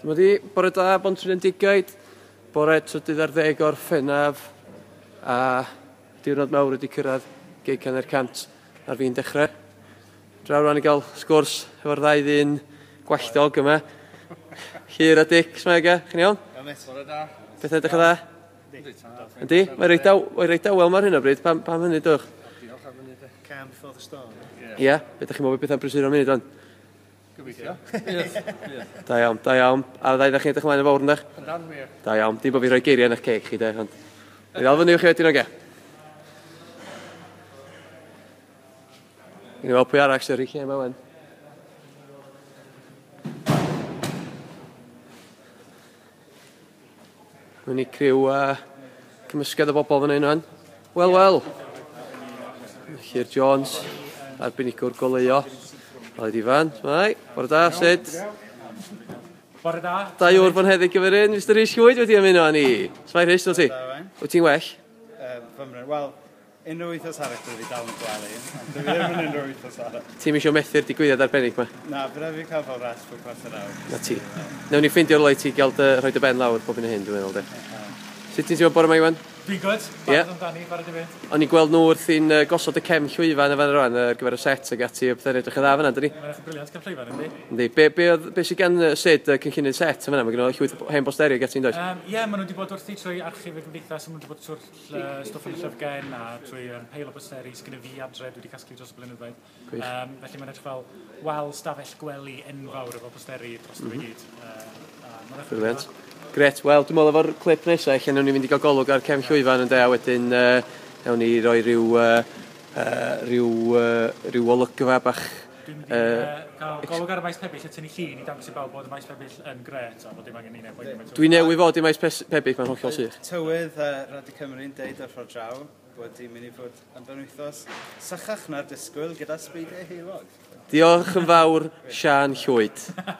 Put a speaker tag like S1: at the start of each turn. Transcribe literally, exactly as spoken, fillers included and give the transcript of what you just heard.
S1: Dyma di, bore da, Pontrhydfendigaid, bore trydydd ar ddeg Orffennaf, a diwrnod mawr wedi cyrraedd gig hanner cant ar fin dechrau. Draw rwan i gael sgwrs efo'r ddau ddyn gwalltog yma. Llyr a Dic, s'mae ga? Chi'n iawn?
S2: Iawn mate. Bore da.
S1: Bethau edrych yn dda? Yndi? Mae reit aw, mae reit awel mar hyn o bryd, pam, pam hynny dwch?
S2: Diolch am hynny de.
S3: Calm before the storm.
S1: Ie, yeah. Be ydych chi'n meddwl bethau'n prysuro munud o'n?
S2: Gobeithio.
S1: Da iawn, da iawn. A ddau ddech chi'n edrych ymlaen yn fawr yndych?
S2: Yndan, wir.
S1: Da iawn. Dim bod fi rhoi geiriau yn eich ceg chi de, ond... Ni ddal fyny i chi wedyn oge. Ni weld pwy arall sy'n rhy lle yma wen. Mae'n i criw uh, cymysgedd o bobl fan hyn o'n. Wel, wel. Llyr Jones, arbenigwr goleuo. Aled Ifan, mai, bore da, sut?
S4: Bore da.
S1: Dau wr fonheddig gyfer un, Mister Rhys Llwyd wedi ymuno â ni. S'mae Rhys, wyt ti? Wyt ti'n well?
S3: Uh, Fymryn, wel, unrhyw wythnos arall dwi wedi dal yn gwely, ond dwi ddim yn unrhyw wythnos arall.
S1: Ti'm isio methu'r digwyddiad arbennig ma?
S3: Na, bydd rhaid fi cael fel rest bob chwarter awr.
S1: Na ti. Newn ni ffeindio'r le i ti gael dy, rhoi dy ben lawr bob hyn a hyn, dwi'n meddwl, de. Sut ti'n teimlo bore yma, Iwan?
S4: Dwi'n good,
S1: Ie.
S4: barod amdani, barod i fynd.
S1: O'n i'n gweld nhw wrthi'n uh, gosod y cefn llwyfan y fan rwan ar gyfer y set ag ati, a pethau'n edrych yn dda fan'na, dydi?
S4: Mae'n edrych yn brilliant cefn llwyfan, yndi?
S1: Yndi. Be, be, oedd, be sydd gan Sid, y cynllunydd set yn fan'na? Mae gen o llwyth o hen bosteri ag ati, yn does?
S4: Um, Ie, yeah, maen nhw wedi bod wrthi trwy archif y gymdeithas, maen nhw wedi bod trwy'r uh, stwff yn y llyfrgell a trwy um, peil o bosteri sydd gen i fi adre, dwi wedi casglu dros y blynyddoedd.
S1: Gwych.
S4: Um, felly mae'n edrych fel wal stafell gwely enfawr efo posteri dros mm -hmm. i gyd. Uh,
S1: Brilliant. Gret, wel, dwi'n meddwl efo'r clip nesaf, lle newn ni fynd i gael golwg ar cefn llwyfan yn de, a wedyn uh, newn ni roi rhyw, uh, uh, rhyw, uh, rhyw olygfa bach.
S4: Dwi'n mynd i uh, cael golwg ar y maes pebyll a tynnu llun i dangos i bawb bod y maes pebyll yn gret a bod dim angen ni neb.
S1: Dwi newydd fod i maes pebyll, mae'n hollol sych.
S3: Tywydd uh, Radio Cymru'n deud ar ffordd draw bod hi'n mynd i fod yn benwythnos sychach na'r disgwyl gyda sbeidiau heulog.
S1: Diolch yn fawr, Siân Llwyd.